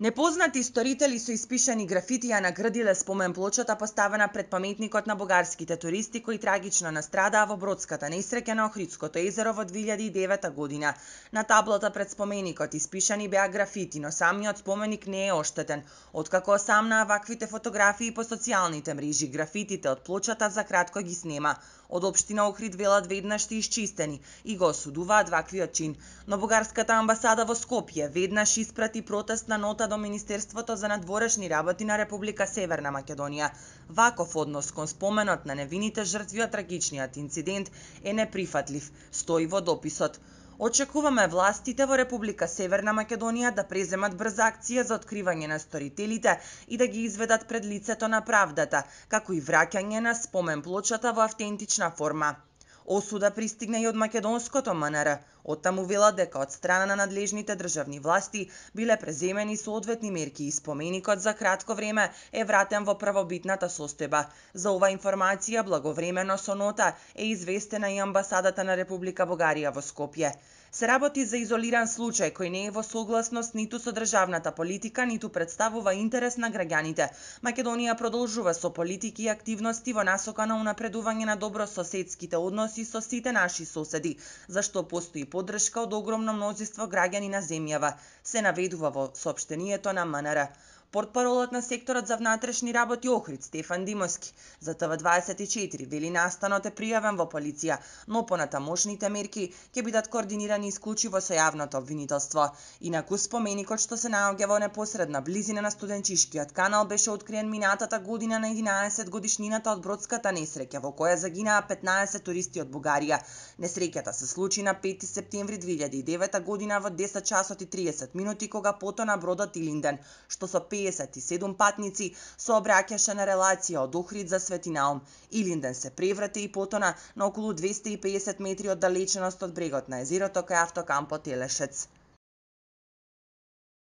Непознати сторители со испишани графити ја наградиле спомен плочата поставена пред паметникот на бугарските туристи кои трагично настрадаа во бродската несреќа на Охридското езеро во 2009 година. На таблата пред споменикот испишани беа графити, но самиот споменик не е оштетен. Откако осамнаа ваквите фотографии по социјалните мрежи, графитите од плочата за кратко ги снема. Од општина Охрид велат веднаш се исчистени и го осудуваат ваквиот чин. Но бугарската амбасада во Скопје веднаш испрати протестна нота до Министерството за надворешни работи на Република Северна Македонија. Ваков однос кон споменот на невините жртви од трагичниот инцидент е неприфатлив, стои во дописот. Очекуваме властите во Република Северна Македонија да преземат брза акција за откривање на сторителите и да ги изведат пред лицето на правдата, како и враќање на спомен плочата во автентична форма. Осуда пристигна и од македонското МНР. Оттаму велат дека од страна на надлежните државни власти биле преземени соодветни мерки и споменикот за кратко време е вратен во првобитната состојба. За ова информација благовремено со нота е известена и амбасадата на Република Бугарија во Скопје. Се работи за изолиран случај кој не е во согласност ниту со државната политика, ниту представува интерес на граѓаните. Македонија продолжува со политики и активности во насока на унапредување на добрососедските односи со сите наши соседи, зашто постои поддршка од огромно мнозинство граѓани на земјава, се наведува во соопштението на МНР. Портпаролот на секторот за внатрешни работи Охрид, Стефан Димовски, за ТВ24 вели настанот е пријавен во полиција, но понатамошните мерки ќе бидат координирани исклучиво со јавното обвинителство. Инаку споменикот што се наоѓа во непосредна близина на студенчишкиот канал беше откриен минатата година на 11 годишнината од бродската несреќа во која загинаа 15 туристи од Бугарија. Несреќата се случи на 5 септември 2009 година во 10 часот и 30 минути кога потона бродот Илинден, што со 57 патници сообраќаше на релација од Охрид за Свети Наум. Илинден се преврте и потона на околу 250 метри од далеченост од брегот на езерото кај автокампот Елешец.